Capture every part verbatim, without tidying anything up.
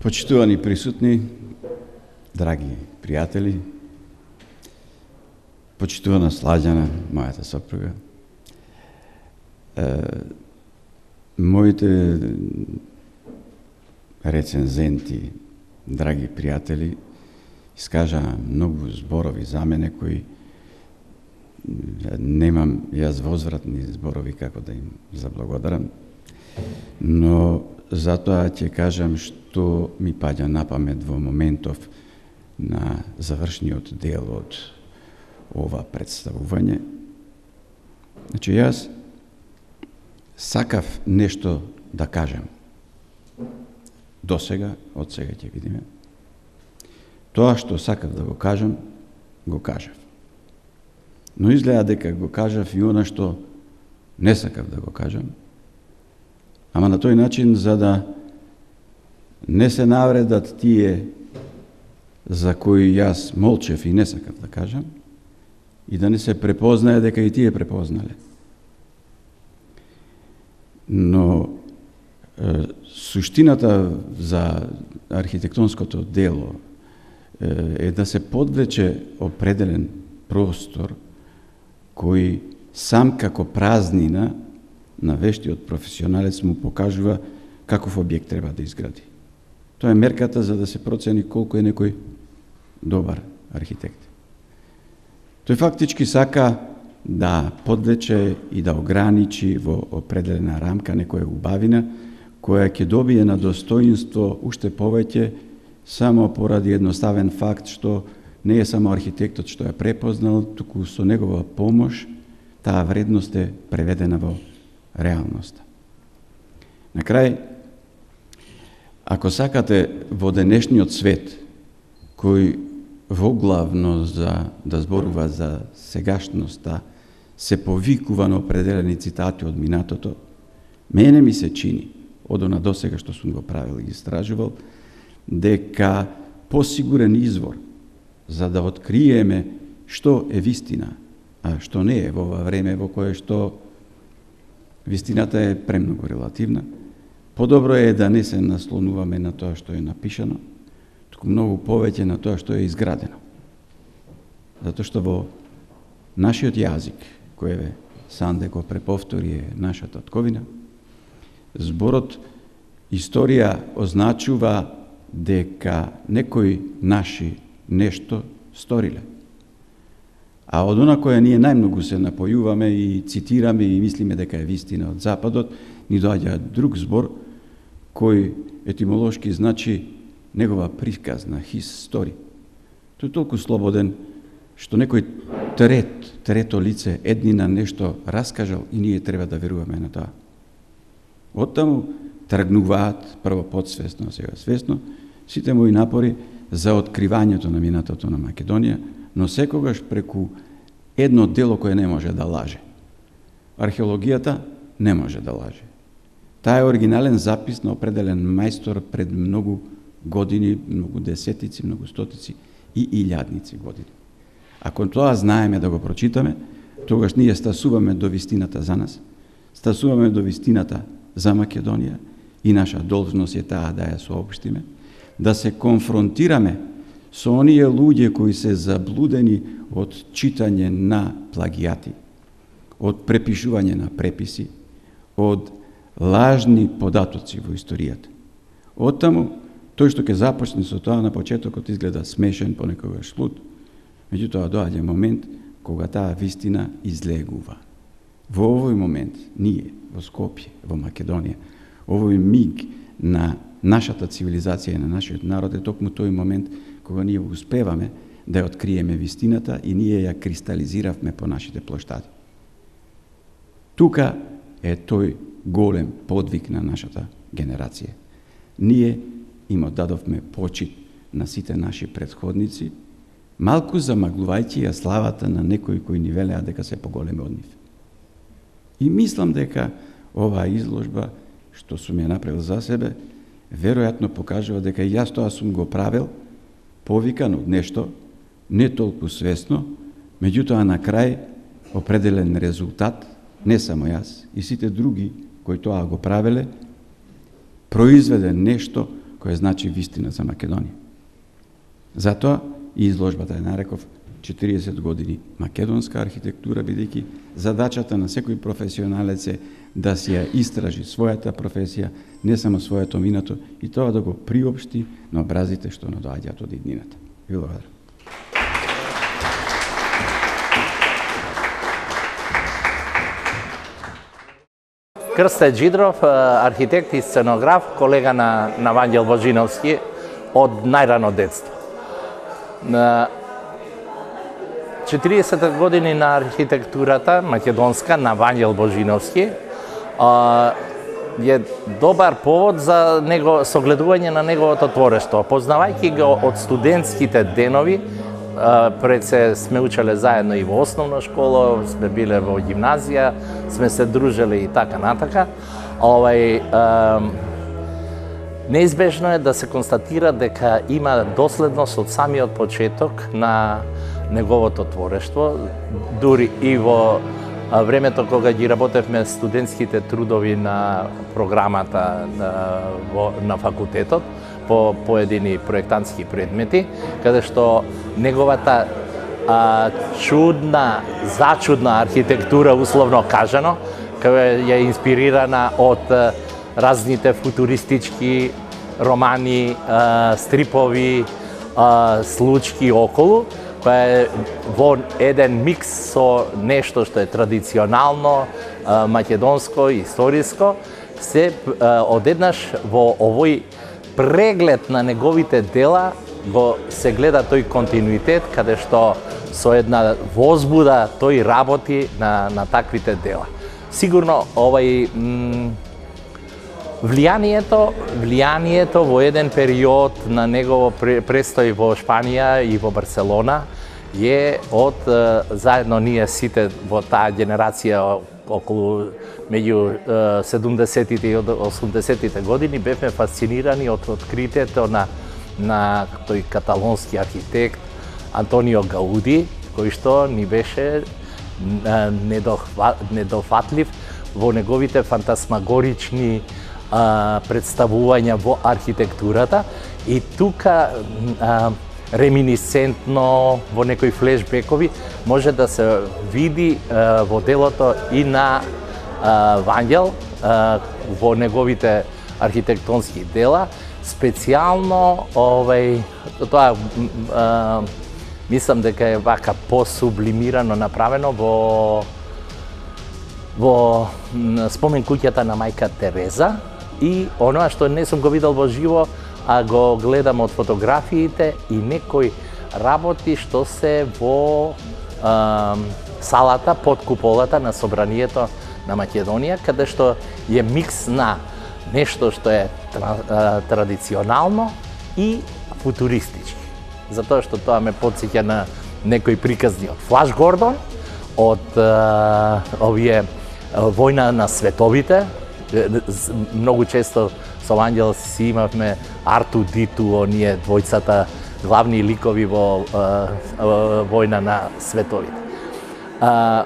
Почитувани присутни, драги пријатели, почитувана Слаѓана, мојата сопруга, е, моите рецензенти, драги пријатели, искажа многу зборови за мене кои немам јас возвратни зборови како да им заблагодарам, но затоа ќе кажам што ми паѓа на памет во моментов на завршниот дел од ова представување. Значи, јас сакав нешто да кажам. До сега, од сега ќе видиме. Тоа што сакав да го кажам, го кажав. Но изгледа дека го кажав и она што не сакав да го кажам, ама на тој начин за да не се навредат тие за кои јас молчев и не сакав да кажам, и да не се препознае дека и тие препознале. Но е, суштината за архитектонското дело е, е да се подвлече определен простор кој сам како празнина на вештиот професионалец му покажува каков објект треба да изгради. Тоа е мерката за да се процени колку е некој добар архитект. Тој фактички сака да подвлече и да ограничи во определена рамка некоја убавина која ќе добие на достоинство уште повеќе само поради едноставен факт што не е само архитектот што ја препознал, туку со негова помош таа вредност е преведена во реалноста. На крај, ако сакате во денешниот свет, кој воглавно за да зборува за сегашноста, се повикува на определени цитати од минатото, мене ми се чини, од она досега што сум го правил и истражувал, дека посигурен извор за да откриеме што е вистина, а што не е во ова време во кое што вистината е премногу релативна, подобро е да не се наслонуваме на тоа што е напишано, туку многу повеќе на тоа што е изградено. Затоа што во нашиот јазик, кој Санде го преповтори е нашата татковина, зборот историја означува дека некои наши нешто сториле. А од она која ние најмногу се напојуваме и цитираме и мислиме дека е вистина од Западот, ни доаѓа друг збор кој етимолошки значи негова приказна, his story. Тој е толку слободен што некој трет, трето лице еднина нешто раскажал и ние треба да веруваме на тоа. Оттаму тргнуваат прво подсвесно, сега свесно, сите мои напори за откривањето на минатото на Македонија, но секогаш преку едно дело кое не може да лаже. Археологијата не може да лаже. Таа е оригинален запис на определен мајстор пред многу години, многу десетици, многу стотици и илјадници години. Ако тоа знаеме да го прочитаме, тогаш ние стасуваме до вистината за нас, стасуваме до вистината за Македонија и наша должност е таа да ја соопштиме, да се конфронтираме со оние луѓе кои се заблудени од читање на плагијати, од препишување на преписи, од лажни податоци во историјата. Оттаму, тој што ќе започне со тоа на почетокот изгледа смешен, понекогаш луд, меѓутоа доаѓа момент кога таа вистина излегува. Во овој момент, ние, во Скопје, во Македонија, овој миг на нашата цивилизација и на нашиот народ е токму тој момент кога ние успеваме да ја откриеме вистината и ние ја кристализиравме по нашите плоштади. Тука е тој голем подвиг на нашата генерација. Ние им оддадовме почит на сите наши претходници, малку замаглувајќи ја славата на некои кои ни велеа дека се поголеми од нив. И мислам дека оваа изложба, што сум ја направил за себе, веројатно покажува дека јас тоа сум го правил повикан од нешто, не толку свесно, меѓутоа на крај определен резултат, не само јас, и сите други кои тоа го правеле, произведе нешто која значи вистина за Македонија. Затоа и изложбата ја нареков четириесет години македонска архитектура, бидејќи задачата на секој професионалец е да си ја истражи својата професија, не само своето минато, и тоа да го приопшти на образите што надоаѓаат од иднината. Ви благодарам. Крсте Джидров, архитект и сценограф, колега на, на Вангел Божиновски од најрано детство. На четириесет години на архитектурата македонска на Вангел Божиновски е добар повод за него, согледување на неговото творештво. Познавајќи го од студентските денови, пред се сме учеле заедно и во основна школа, сме биле во гимназија, сме се дружеле и така натака. Овај, неизбежно е да се констатира дека има доследност од самиот почеток на неговото творештво, дури и во времето кога ги работевме студентските трудови на програмата на, на факултетот по поедини проектантски предмети, каде што неговата а, чудна, зачудна архитектура, условно кажано, која е инспирирана од а, разните футуристички романи, а, стрипови, а, случки околу, која е во еден микс со нешто што е традиционално, а, македонско, историско, се а, одеднаш во овој преглед на неговите дела го се гледа тој континуитет, каде што со една возбуда тој работи на, на таквите дела. Сигурно овај влијанието, влијанието во еден период на негово престој во Шпанија и во Барселона е од заедно ние сите во таа генерација околу меѓу седумдесетите и осумдесетите години бевме фасцинирани од откритието на на тој каталонски архитект Антонио Гауди, кој што ни беше недофатлив во неговите фантасмагорични а, представувања во архитектурата, и тука а, реминисцентно во некои флешбекови може да се види а, во делото и на а, Вангел а, во неговите архитектонски дела, специјално овај тоа а, мислам дека е вака посублимирано направено во во спомен куќата на мајка Тереза, и оноа што не сум го видел во живо, а го гледам од фотографиите и некои работи што се во а, салата под куполата на Собранието на Македонија, каде што е микс на нешто што е традиционално и футуристички. Затоа што тоа ме потсеќа на некои приказни од Флаш Гордон, од а, овие Војна на световите. Многу често со Ангел си имавме Арту Диту, оние двојцата главни ликови во а, а, Војна на световите. А,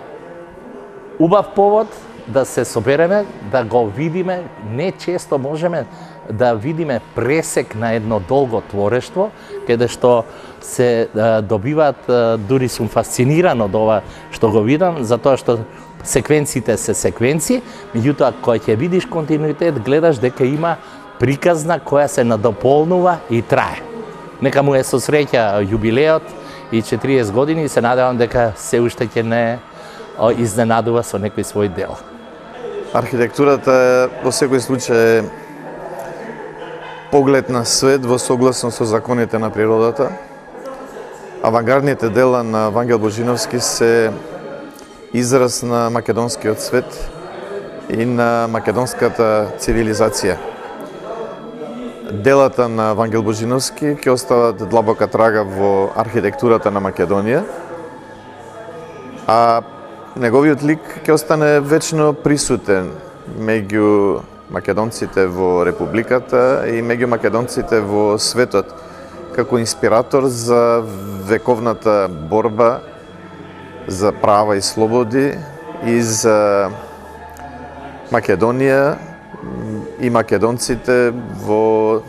убав повод да се собереме, да го видиме, не често можеме да видиме пресек на едно долго творештво, каде што се а, добиваат, а, дури сум фасциниран од ова што го видам, затоа што секвенците се секвенци, меѓутоа кога ќе видиш континуитет, гледаш дека има приказна која се надополнува и трае. Нека му е со среќа јубилеот и четириесет години, и се надевам дека се уште ќе не изненадува со некој свој дел. Архитектурата е во секој случај поглед на свет во согласност со законите на природата. Авангардните дела на Вангел Божиновски се израз на македонскиот свет и на македонската цивилизација. Делата на Вангел Божиновски ќе остават длабока трага во архитектурата на Македонија, а неговиот лик ќе остане вечно присутен меѓу македонците во Републиката и меѓу македонците во светот, како инспиратор за вековната борба за права и слободи и за Македонија и македонците во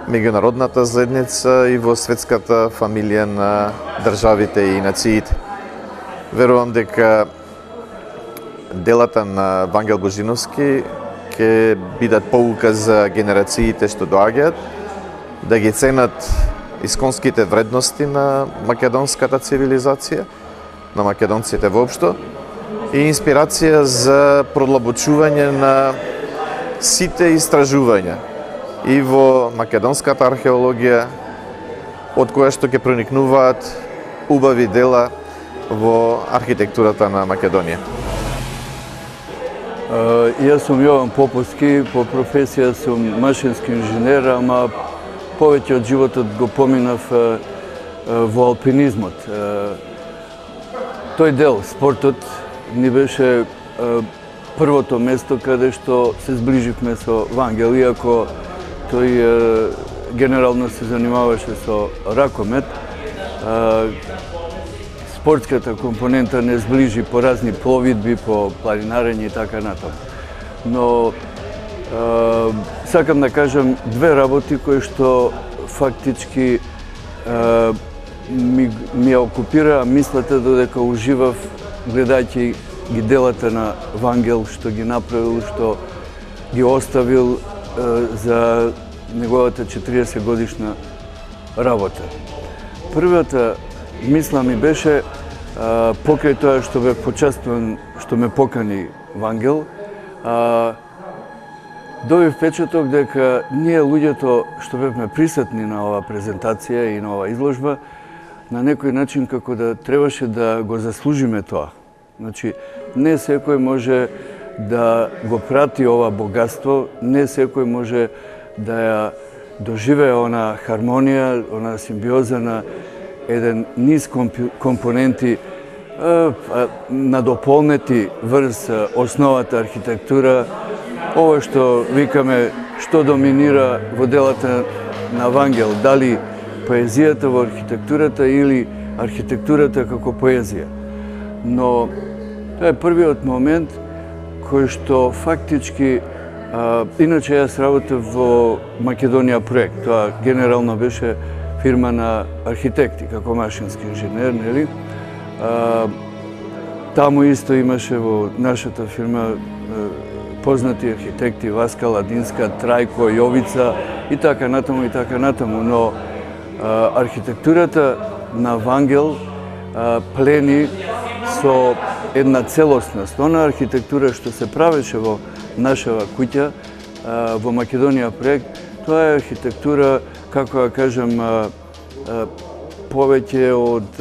меѓународната заедница и во светската фамилија на државите и нациите. Верувам дека делата на Вангел Божиновски ќе бидат поука за генерациите што доаѓаат, да ги ценат исконските вредности на македонската цивилизација, на македонците воопшто, и инспирација за продлабочување на сите истражувања и во македонската археологија, од која што ќе проникнуваат убави дела во архитектурата на Македонија. Uh, јас сум Јован Поповски, по професија сум машински инженер, ама повеќе од животот го поминав uh, uh, во алпинизмот. Uh, тој дел, спортот, ни беше uh, првото место каде што се зближивме со Вангел, иако тој uh, генерално се занимаваше со ракомет. Uh, Спортската компонента не зближи по разни пловидби, по планинарење и така натаму. Но е, сакам да кажам две работи кои што фактички е, ми, ми окупира мислата додека уживав гледајќи ги делата на Вангел, што ги направил, што ги оставил е, за неговата четириесет годишна работа. Првата мисла ми беше, а, покрај тоа што бе почествуван, што ме покани Вангел, а, добив впечаток дека ние луѓето што бевме присутни на оваа презентација и на оваа изложба, на некој начин како да требаше да го заслужиме тоа. Значи, не секој може да го прати ова богатство, не секој може да ја доживее она хармонија, она симбиоза на еден низ компоненти надополнети врз основата архитектура, ова што викаме што доминира во делата на Вангел, дали поезијата во архитектурата или архитектурата како поезија. Но тоа е првиот момент кој што фактички, а, иначе јас работев во Македонија проект, тоа генерално беше фирма на архитекти, како машински инженер, нели? А, таму исто имаше во нашата фирма а, познати архитекти Васка Ладинска, Трајко, Јовица и така натаму и така натаму, но а, архитектурата на Вангел а, плени со една целосност. Она архитектура што се правеше во нашава куќа, а, во Македонија проект, тоа е архитектура, како да кажам, повеќе од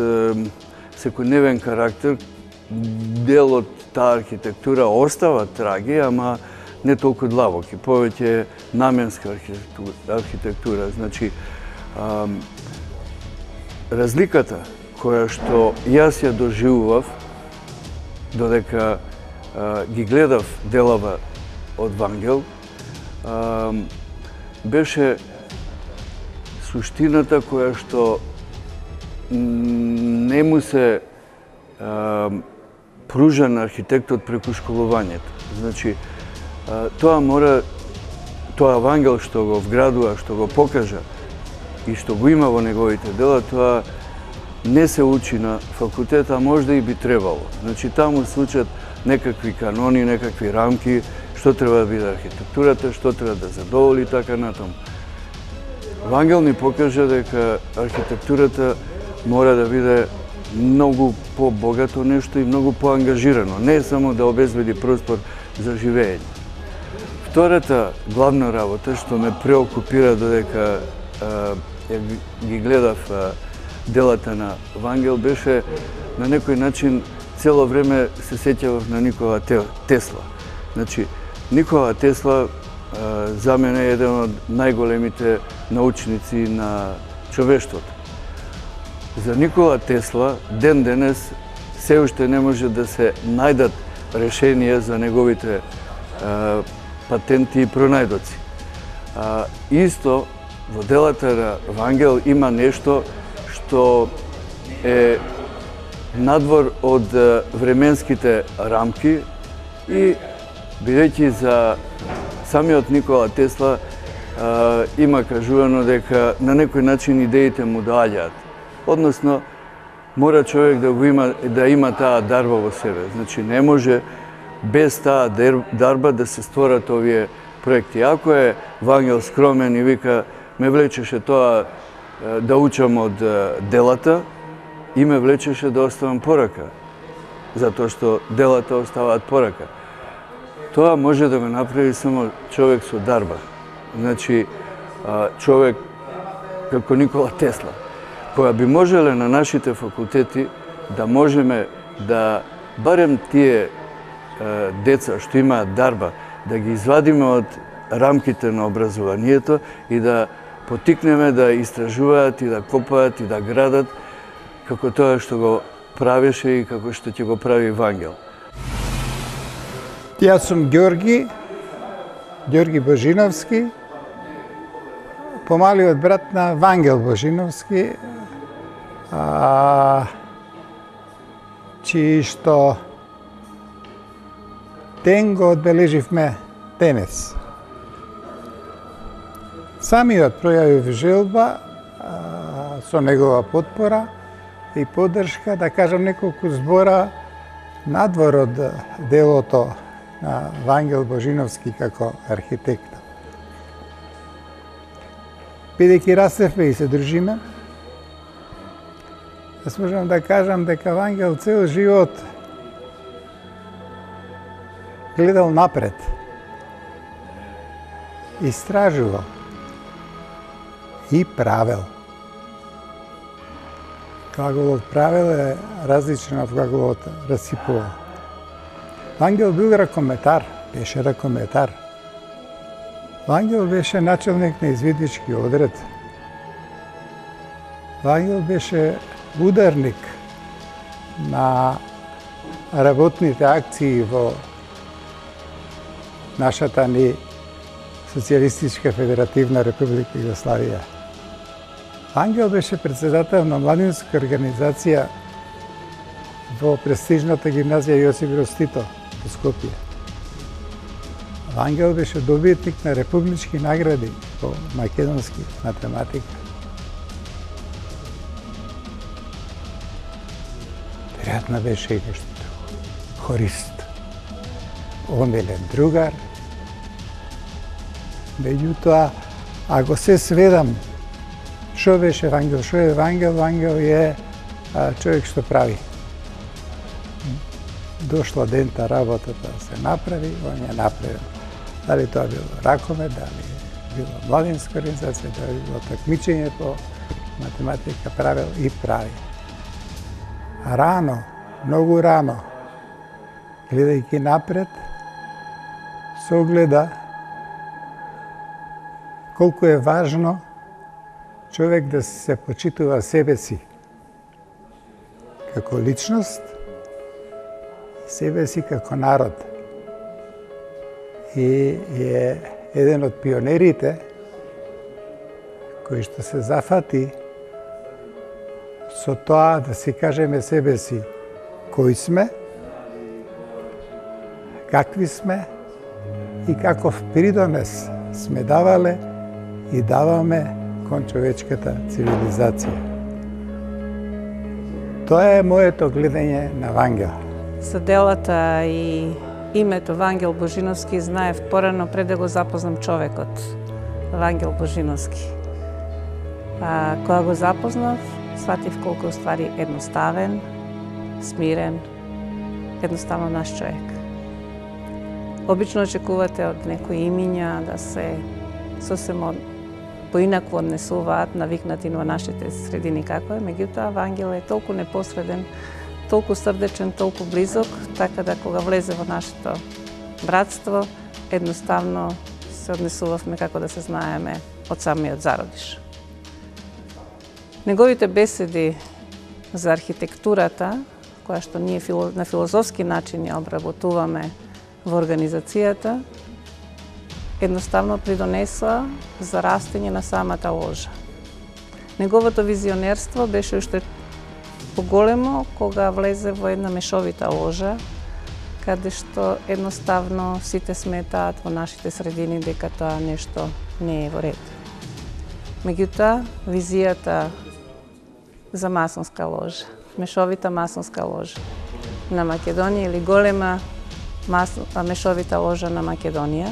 секојдневен карактер. Дел од таа архитектура остава траги, ама не толку длабоки, повеќе наменска архитектура. архитектура. Значи, разликата која што јас ја доживував, додека ги гледав делава од Вангел, беше суштината која што не му се а, пружа на архитектот преку школувањето. Значи, а, тоа мора, тоа Вангел што го вградува, што го покажа и што го има во неговите дела, тоа не се учи на факултет, а можда и би требало. Значи, таму се учат некакви канони, некакви рамки, што треба да биде архитектурата, што треба да задоволи, така натаму. Вангел ни покажа дека архитектурата мора да биде многу по-богато нешто и многу по-ангажирано, не само да обезбеди простор за живење. Втората главна работа што ме преокупира додека а, ги гледав а, делата на Вангел беше на некој начин цело време се сеќавав на Никола Тесла. Значи, Никола Тесла а, за мене е еден од најголемите научници на човештвото. За Никола Тесла ден денес се уште не може да се најдат решенија за неговите а, патенти и пронајдоци. А, исто во делата на Вангел има нешто што е надвор од временските рамки и бидејќи за самиот Никола Тесла а, има кажувано дека на некој начин идеите му доаѓаат. Односно, мора човек да го има да има таа дарба во себе. Значи не може без таа дарба да се створат овие проекти. Ако е Вангел скромен и вика ме влечеше тоа да учам од делата и ме влечеше да оставам порака, затоа што делата оставаат порака. Тоа може да го направи само човек со дарба. Значи, човек како Никола Тесла, која би можеле на нашите факултети да можеме да барем тие деца што имаат дарба, да ги извадиме од рамките на образованието и да потикнеме да истражуваат и да копаат и да градат како тоа што го правеше и како што ќе го прави Вангел. Јас сум Ѓорги, Ѓорги Божиновски, помалиот брат на Вангел Божиновски, а, чии што ден го одбележивме денес. Самиот пројавив желба а, со негова потпора и поддршка да кажам неколку збора надвор од делото на Вангел Божиновски како архитекта. Бидејќи растевме и се дружиме, јас можам да кажам дека Вангел цел живот гледал напред, истражувал и правел. Глаголот правел е различен од глаголот расипувал. Вангел бил ракометар, беше ракометар. Вангел беше начелник на извиднички одред. Вангел беше ударник на работните акции во нашата ни Социјалистичка федеративна република Југославија. Вангел беше председател на младинска организација во престижната гимназија Јосип Броз Тито во Скопје. Вангел беше добитник на републички награди по македонски математика. Веројатно беше и нешто друго. Хорист, омилен другар. Меѓутоа, ако се сведам што беше Вангел, што е Вангел, Вангел е а, човек што прави. Дошла дента работата да се направи, он ја направил. Дали тоа било ракомет, дали било младинска организација, дали било такмичење по математика, правил и прави. Рано, многу рано, гледајќи напред, се огледа колку е важно човек да се почитува себе си како личност, себе си како народ. И е еден од пионерите кој што се зафати со тоа да си кажеме себе си кои сме, какви сме и каков придонес сме давале и даваме кон човечката цивилизација. Тоа е моето гледање на Вангел. За делата и името Вангел Божиновски знаев порано пред да го запознам човекот Вангел Божиновски. А, кога го запознав, сватив колку е ствари едноставен, смирен, едноставно наш човек. Обично очекувате од некои имиња да се сосем поинаку однесуваат, навикнати во нашите средини како е, меѓутоа Вангел е толку непосреден, толку срдечен, толку близок, така да кога влезе во нашето братство, едноставно се однесувавме како да се знаеме од самиот зародиш. Неговите беседи за архитектурата, која што ние на филозофски начин ја обработуваме во организацијата, едноставно придонесла за растење на самата ложа. Неговото визионерство беше уште поголемо кога влезе во една мешовита ложа, каде што едноставно сите сметаат во нашите средини дека тоа нешто не е во ред. Меѓутоа, визијата за масонска ложа, мешовита масонска ложа на Македонија или голема мас... мешовита ложа на Македонија,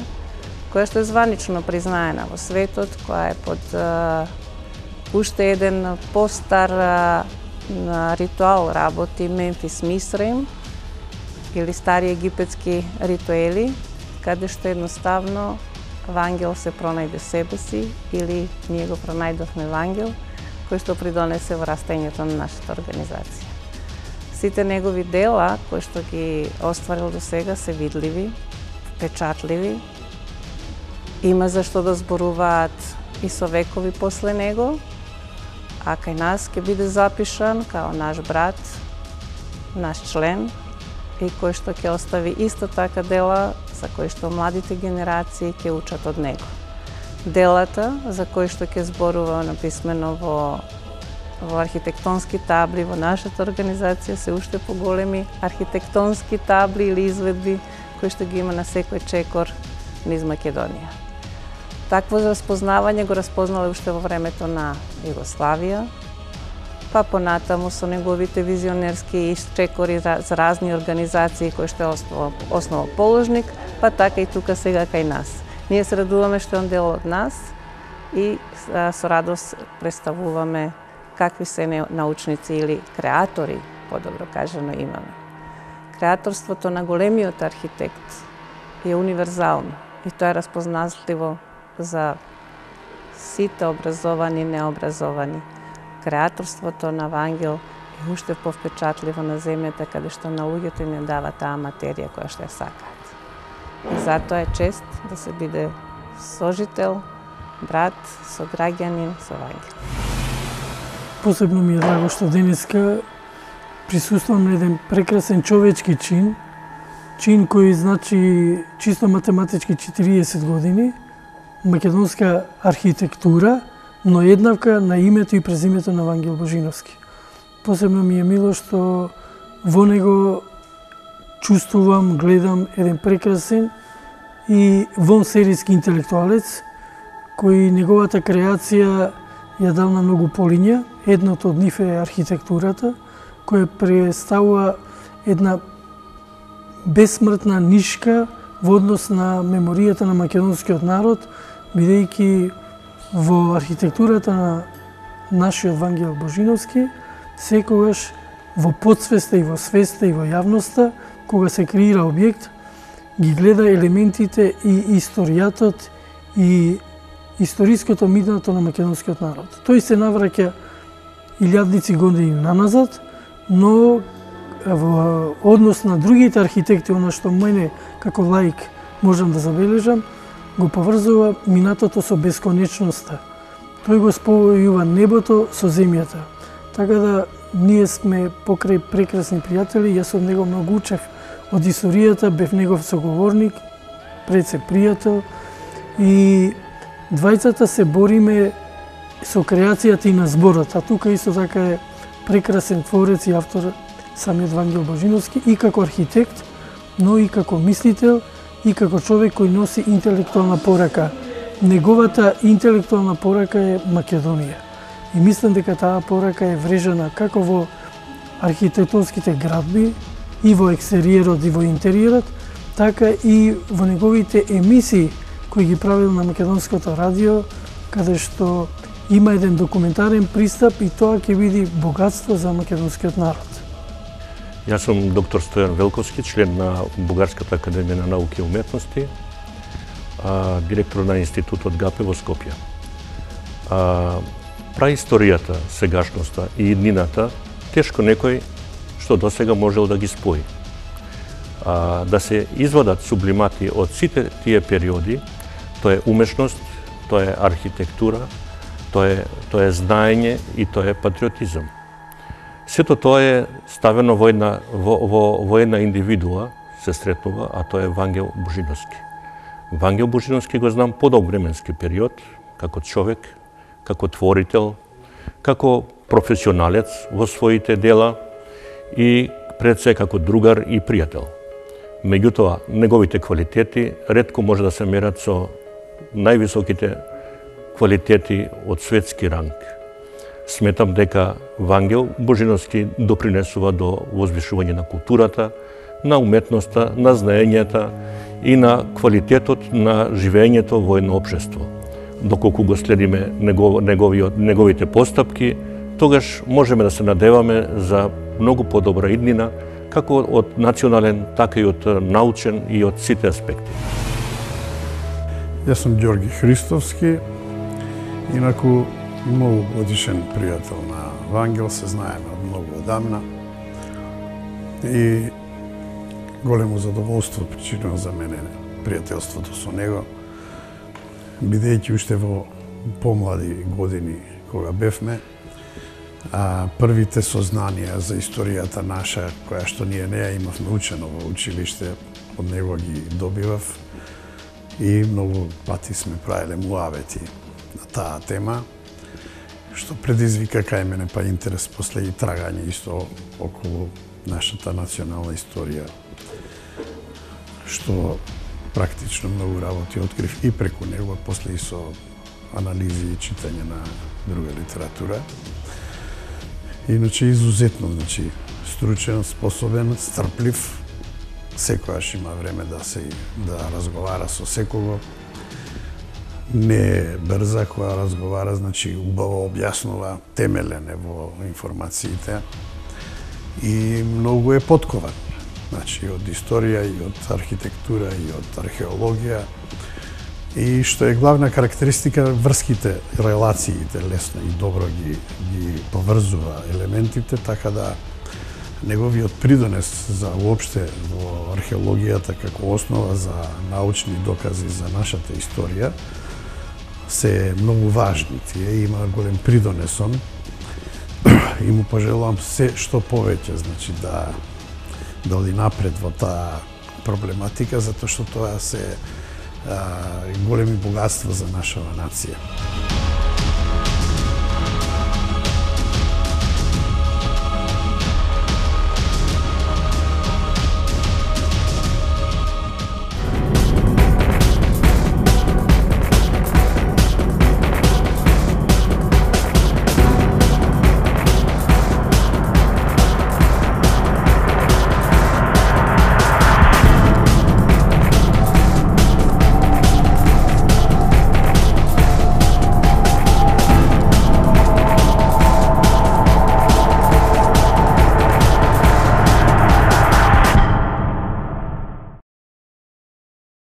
која што е званично признаена во светот, која е под а, уште еден постар а, ритуал работи Мемфис Мисраим или стари египетски ритуели, каде што едноставно вангел се пронајде себе си или ние го пронајдовме вангел кој што придонесе во растењето на нашата организација. Сите негови дела кои што ги остварил до сега се видливи, впечатливи, има за што да зборуваат и со векови после него, а кај нас ќе биде запишан као наш брат, наш член и кој што ќе остави исто така дела за кои што младите генерации ќе учат од него. Делата за кои што ќе зборува написмено во во архитектонски табли во нашата организација се уште поголеми архитектонски табли или изведби кои што ги има на секој чекор низ Македонија. Такво распознавање го распознале уште во времето на Југославија, па понатаму со неговите визионерски чекори за разни организации кои што е основоположник, па така и тука сега кај нас. Ние се радуваме што е он дел од нас и со радост представуваме какви се научници или креатори, подобро кажано, имаме. Креаторството на големиот архитект е универзално и тоа е распознатливо за сите образовани и необразовани. Креаторството на Вангел е уште повпечатливо на земјата каде што на луѓето им ја дава таа материја која што ја сакаат. И затоа е чест да се биде сожител, брат, сограѓанин со Вангел. Посебно ми е драго што денеска присуствам на еден прекрасен човечки чин, чин кој значи чисто математички четириесет години, македонска архитектура, но еднавка на името и презимето на Вангел Божиновски. Посебно ми е мило што во него чувствувам, гледам еден прекрасен и вонсерийски интелектуалец, кој неговата креација ја дал на многу полиња. Едното од нив е архитектурата, која представува една бесмртна нишка во однос на меморијата на македонскиот народ, бидејќи во архитектурата на нашиот Вангел Божиновски секогаш во подсвеста и во свеста и во јавноста, кога се креира објект, ги гледа елементите и историјатот и историското минато на македонскиот народ. Тој се навраќа илјадници години наназад, но во однос на другите архитекти, она што мене како лаик можам да забележам, го поврзува минатото со бесконечноста. Тој го спојува небото со земјата. Така да ние сме покрај прекрасни пријатели, јас од него многу учев од историјата, бев негов соговорник, пред се пријател и двајцата се бориме со креацијата и на зборот, а тука исто така е прекрасен творец и автор самиот Вангел Божиновски и како архитект, но и како мислител и како човек кој носи интелектуална порака. Неговата интелектуална порака е Македонија. И мислам дека таа порака е врежана како во архитектонските градби, и во екстериерот и во интериерот, така и во неговите емисии кои ги правил на македонското радио, каде што има еден документарен пристап и тоа ќе биде богатство за македонскиот народ. Јас сум доктор Стојан Велковски, член на Бугарската академија на науки и уметности, а, директор на институтот ГАПЕ во Скопје. А, праисторијата, сегашноста и иднината, тешко некој што досега можел да ги спои. А, да се извадат сублимати од сите тие периоди, тоа е умешност, тоа е архитектура, тоа е, тоа е знаење и тоа е патриотизам. Сето тоа е ставено во една, во, во, во една индивидуа, се сретнува, а тоа е Вангел Божиновски. Вангел Божиновски го знам подолг временски период, како човек, како творител, како професионалец во своите дела и пред се како другар и пријател. Меѓутоа, неговите квалитети ретко може да се мерат со највисоките квалитети од светски ранг. Сметам дека Вангел Божиновски допринесува до возвишување на културата, на уметноста, на знаењата и на квалитетот на живеењето во едно општество. Доколку го следиме негов, неговиот, неговите постапки, тогаш можеме да се надеваме за многу подобра иднина, како од национален, така и од научен и од сите аспекти. Јас сум Ѓорги Христовски, инаку многу годишен пријател на Вангел, се знаеме од многу одамна и големо задоволство причинува за мене пријателството со него, бидејќи уште во помлади години кога бевме, а првите сознанија за историјата наша, која што ние не ја имавме учено во училиште, од него ги добивав и многу пати сме правиле муавети на таа тема, што предизвика кај мене па интерес после и трагање исто околу нашата национална историја, што практично многу работи открив и преку него, после и со анализи и читање на друга литература. Иначе изузетно, значи, стручен, способен, стрплив, секојаш има време да се да разговара со секого. Не е брза која разговара, значи убаво објаснува, темелен е во информациите и многу е поткован. Значи, од историја, и од архитектура, и од археологија. И што е главна карактеристика, врските, релациите лесно и добро ги, ги поврзува елементите, така да неговиот придонес за уопште во археологијата како основа за научни докази за нашата историја се многу важни. Тие има голем придонесон и му пожелувам се што повеќе, значи да да оди напред во таа проблематика, затоа што тоа се а, големи богатства за нашава нација.